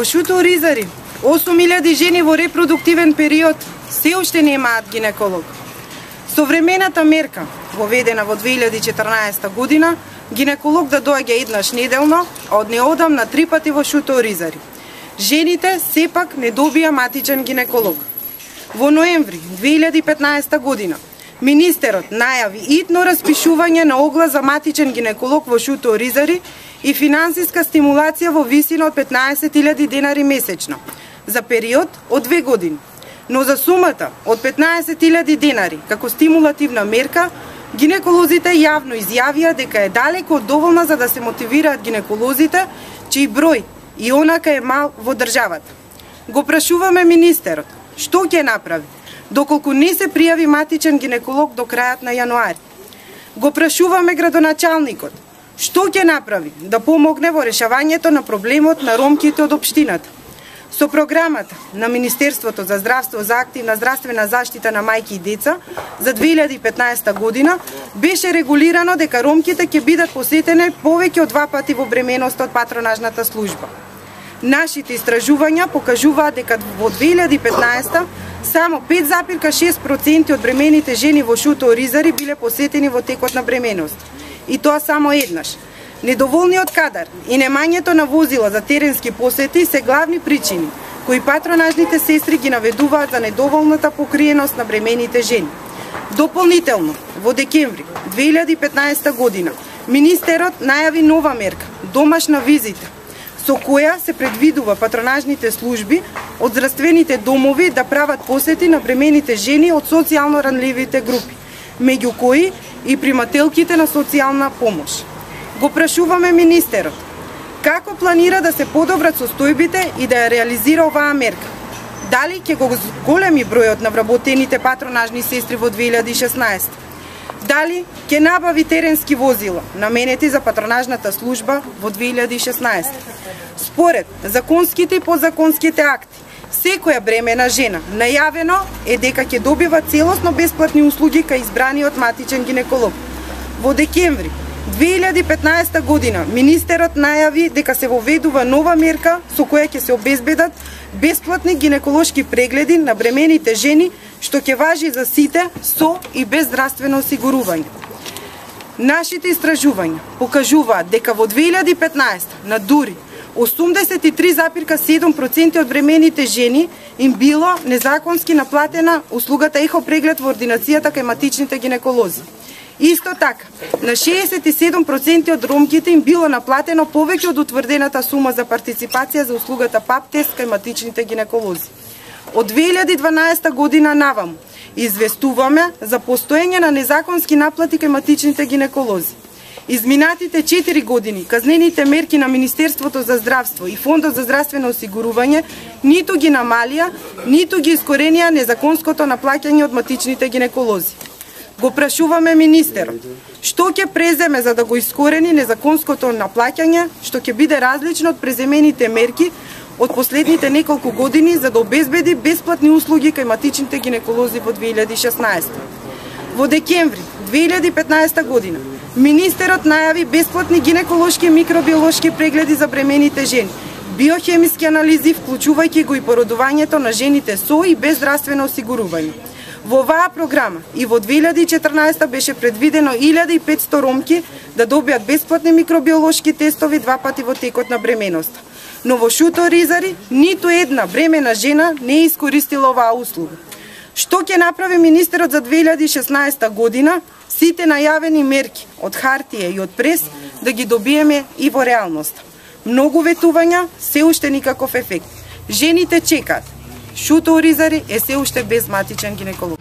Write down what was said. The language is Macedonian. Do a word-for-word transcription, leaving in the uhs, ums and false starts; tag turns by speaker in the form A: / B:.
A: Во Шуто Оризари, осум илјади жени во репродуктивен период се уште немаат гинеколог. Современата мерка, воведена во две илјади и четрнаесета година, гинеколог да доаѓа еднаш неделно, а од неодамна три пати во Шуто Оризари. Жените сепак не добија матичен гинеколог. Во ноември две илјади и петнаесета година, министерот најави итно распишување на оглас за матичен гинеколог во Шуто Оризари и финансиска стимулација во висина од петнаесет илјади денари месечно, за период од две години. Но за сумата од петнаесет илјади денари како стимулативна мерка, гинеколозите јавно изјавија дека е далеку од доволна за да се мотивираат гинеколозите, чиј број и онака е мал во државата. Го прашуваме министерот, што ќе направи, доколку не се пријави матичен гинеколог до крајот на јануари. Го прашуваме градоначалникот, што ќе направи да помогне во решавањето на проблемот на ромките од општината. Со програмата на Министерството за здравство за активна здравствена заштита на мајки и деца за две илјади и петнаесета година беше регулирано дека ромките ќе бидат посетени повеќе од два пати во бременост од патронажната служба. Нашите истражувања покажуваат дека во две илјади и петнаесета само пет запирка шест проценти од бремените жени во Шуто Оризари биле посетени во текот на бременост. И тоа само еднаш. Недоволниот кадар и немањето на возила за теренски посети се главни причини кои патронажните сестри ги наведуваат за недоволната покриеност на бремените жени. Дополнително, во декември две илјади и петнаесета година, министерот најави нова мерка – домашна визита, со која се предвидува патронажните служби од здравствените домови да прават посети на бремените жени од социјално ранливите групи, меѓу кои и примателките на социјална помош. Го прашуваме министерот, како планира да се подобрат состојбите и да ја реализира оваа мерка? Дали ќе го големи бројот на вработените патронажни сестри во две илјади и шеснаесета? Дали ќе набави теренски возила, наменети за патронажната служба во две илјади и шеснаесета? Според законските и подзаконските акти, секоја бремена жена најавено е дека ќе добива целосно бесплатни услуги кај избраниот матичен гинеколог. Во декември две илјади и петнаесета година министерот најави дека се воведува нова мерка со која ќе се обезбедат бесплатни гинеколошки прегледи на бремените жени, што ќе важи за сите со и без здравствено осигурување. Нашите истражувања покажуваат дека во две илјади и петнаесета на дури осумдесет и три запирка седум проценти од бремените жени им било незаконски наплатена услугата ехо преглед во ординацијата кај матичните гинеколози. Исто така, на шеесет и седум проценти од ромките им било наплатено повеќе од утврдената сума за партиципација за услугата пап тест кај матичните гинеколози. Од две илјади и дванаесета година наваму известуваме за постоење на незаконски наплати кај матичните гинеколози. Изминатите четири години казнените мерки на Министерството за здравство и Фондот за здравствено осигурување ниту ги намалија, ниту ги искоренија незаконското наплаќање од матичните гинеколози. Го прашуваме министерот, што ќе преземе за да го искорени незаконското наплаќање, што ќе биде различно од преземените мерки од последните неколку години за да обезбеди бесплатни услуги кај матичните гинеколози во две илјади и шеснаесета. Во декември две илјади и петнаесета година министерот најави бесплатни гинеколошки и микробиолошки прегледи за бремените жени, биохемиски анализи, вклучувајќи го и породувањето на жените со и без здравствено осигурување. Во оваа програма и во две илјади и четрнаесета беше предвидено илјада и петсто ромки да добијат бесплатни микробиолошки тестови два пати во текот на бременоста. Но во Шуто Оризари ниту една бремена жена не е искористила оваа услуга. Што ќе направи министерот за две илјади и шеснаесета година, сите најавени мерки од хартија и од прес да ги добиеме и во реалноста? Многу ветувања, се уште никаков ефект. Жените чекаат. Шуто Оризари е се уште без матичен гинеколог.